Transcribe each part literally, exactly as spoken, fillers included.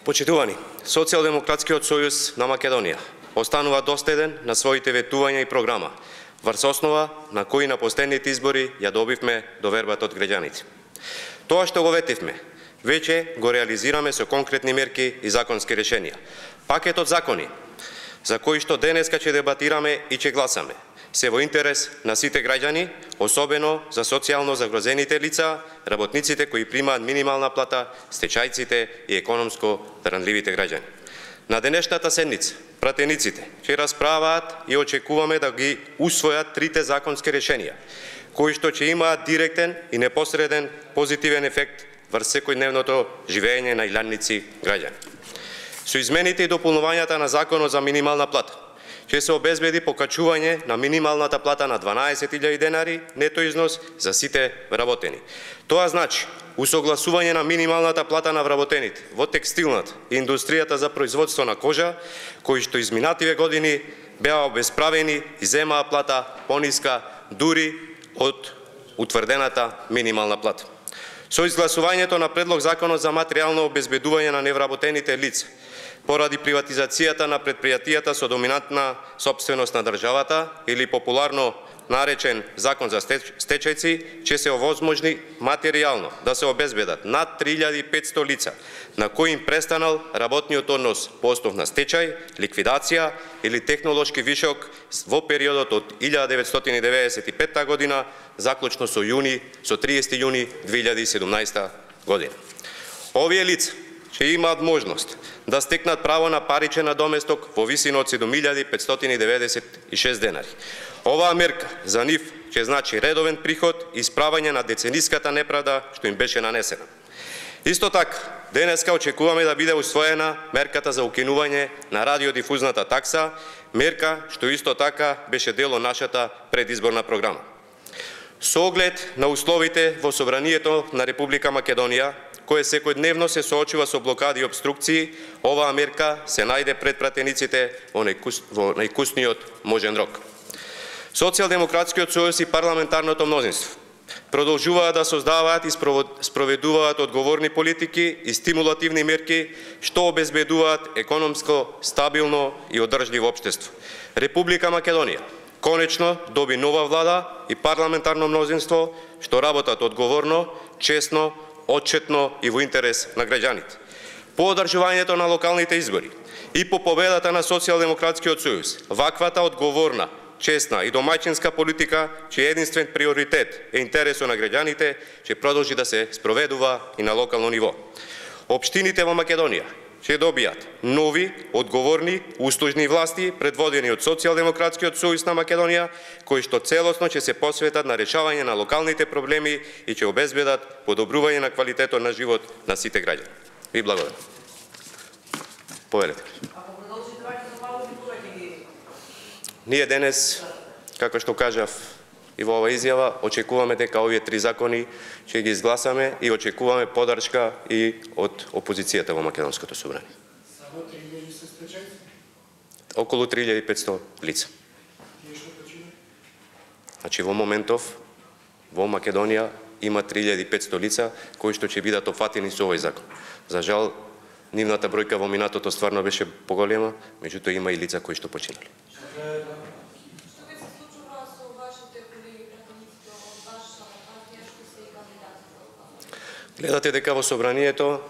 Почитувани, Социјалдемократскиот сојуз на Македонија останува доследен на своите ветувања и програма, врз основа на кои на последните избори ја добивме довербата од граѓаните. Тоа што го ветивме, веќе го реализираме со конкретни мерки и законски решенија. Пакетот закони за кои што денеска ќе дебатираме и ќе гласаме, се во интерес на сите граѓани, особено за социјално загрозените лица, работниците кои примаат минимална плата, стечајците и економско ранливите граѓани. На денешната седница, пратениците ќе расправаат и очекуваме да ги усвојат трите законски решенија, кои што ќе имаат директен и непосреден позитивен ефект врз секојдневното живење на илјадници граѓани. Со измените и дополнувањата на Законот за минимална плата, ќе се обезбеди покачување на минималната плата на дванаесет илјади денари нето износ за сите вработени. Тоа значи усогласување на минималната плата на вработените во текстилната и индустријата за производство на кожа, кои што изминативе години беа обесправени и земаа плата пониска дури од утврдената минимална плата. Со изгласувањето на предлог Законот за материјално обезбедување на невработените лица, поради приватизацијата на предпријатијата со доминантна сопственост на државата или популарно наречен Закон за стечајци, ќе се овозможни материјално да се обезбедат над три илјади и петсто лица на кои им престанал работниот однос по основ на стечај, ликвидација или технолошки вишок во периодот од илјада деветстотини деветдесет и петта година заклучно со јуни со триесети јуни две илјади и седумнаесета година. Овие лица ќе имаат можност да стекнат право на паричен надоместок во висина од седум илјади петстотини деветдесет и шест денари. Оваа мерка за нив ќе значи редовен приход и исправање на децениската неправда што им беше нанесена. Исто така, денеска очекуваме да биде усвоена мерката за укинување на радиодифузната такса, мерка што исто така беше дел од нашата предизборна програма. Со оглед на условите во собранието на Република Македонија, кое секојдневно се соочува со блокади и обструкции, оваа мерка се најде пред пратениците во најкусниот можен рок. Социјалдемократскиот сојуз и парламентарното мнозинство продолжуваат да создаваат и спроведуваат одговорни политики и стимулативни мерки што обезбедуваат економско, стабилно и одржливо општество. Република Македонија конечно доби нова влада и парламентарно мнозинство што работат одговорно, честно, отчетно и во интерес на граѓаните. По одржувањето на локалните избори и по победата на Социјалдемократскиот сојуз, ваквата одговорна, честна и домаќинска политика, чиј единствен приоритет е интересот на граѓаните, ќе продолжи да се спроведува и на локално ниво. Општините во Македонија ќе добијат нови, одговорни, услужни власти, предводени од Социјалдемократскиот сојуз на Македонија, кои што целосно ќе се посветат на решавање на локалните проблеми и ќе обезбедат подобрување на квалитетот на живот на сите граѓани. Ви благодарам. Повелете. Ние денес, како што кажав и во оваа изјава, очекуваме дека овие три закони ќе ги изгласаме и очекуваме поддршка и од опозицијата во Македонското собрание. Само три илјади се стечајци? Околу три илјади и петсто лица. Значи во моментов во Македонија има три илјади и петсто лица кои што ќе бидат опфатени со овој закон. За жал, нивната бројка во минатото стварно беше поголема, меѓутоа има и лица кои што починали. Гледате дека во собранието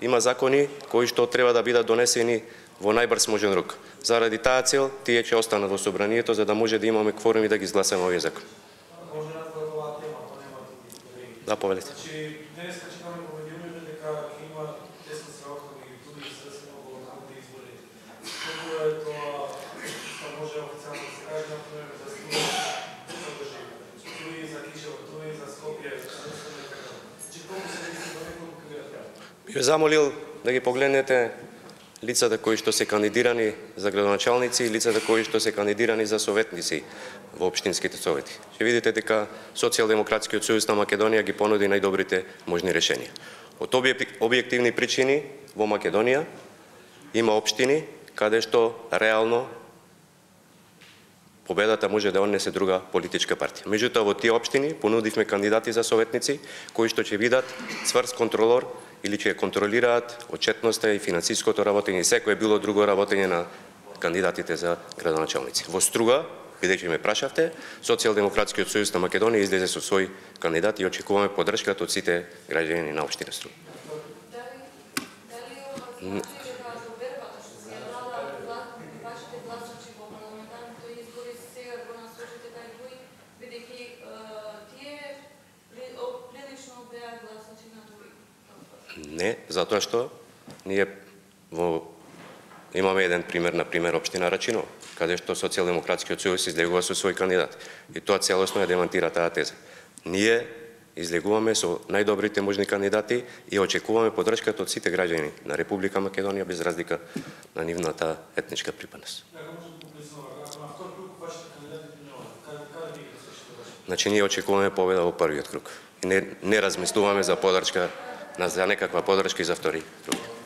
има закони кои што треба да бидат донесени во најбрз можен рок. Заради таа цел, тие ќе останат во собранието за да може да имаме кворум и да ги изгласаме овие закони. Може да оваа тема, ако нема други колеги. Да, повелете. Значи, денеска читаме по медиумите дека ќе има тесна сработка меѓу туди и се во локалните избори. Како е тоа, што може официјално да се каже, например, за Струја, за држава, Струја за Кишево, Струја за Скопје, би ве замолил да ги погледнете лицата кои што се кандидирани за градоначалници и лицата кои што се кандидирани за советници во општинските совети. Ќе видите дека Социјалдемократскиот сојуз на Македонија ги понуди најдобрите можни решенија. Од објективни причини во Македонија има општини каде што реално победата може да однесе друга политичка партија. Меѓутоа во тие општини понудивме кандидати за советници кои што ќе бидат цврст контролор или ќе контролираат отчетноста и финансиското работење и секое било друго работење на кандидатите за градоначалници. Во Струга, бидејќи ме прашавте, Социјалдемократскиот сојуз на Македонија излезе со свој кандидат и очекуваме поддршката од сите граѓани на општина Струга. Не, затоа што ние во имаме еден пример, на пример општина Рачино, каде што Социјалдемократскиот сојуз излегува со свој кандидат. И тоа целосно ја демонтира таа теза. Ние излегуваме со најдобрите можни кандидати и очекуваме поддршката од сите граѓани на Република Македонија без разлика на нивната етничка припадност. Значи ние очекуваме победа во првиот круг. И не, не размислуваме за поддршка, за некаква поддршка и за втори круг.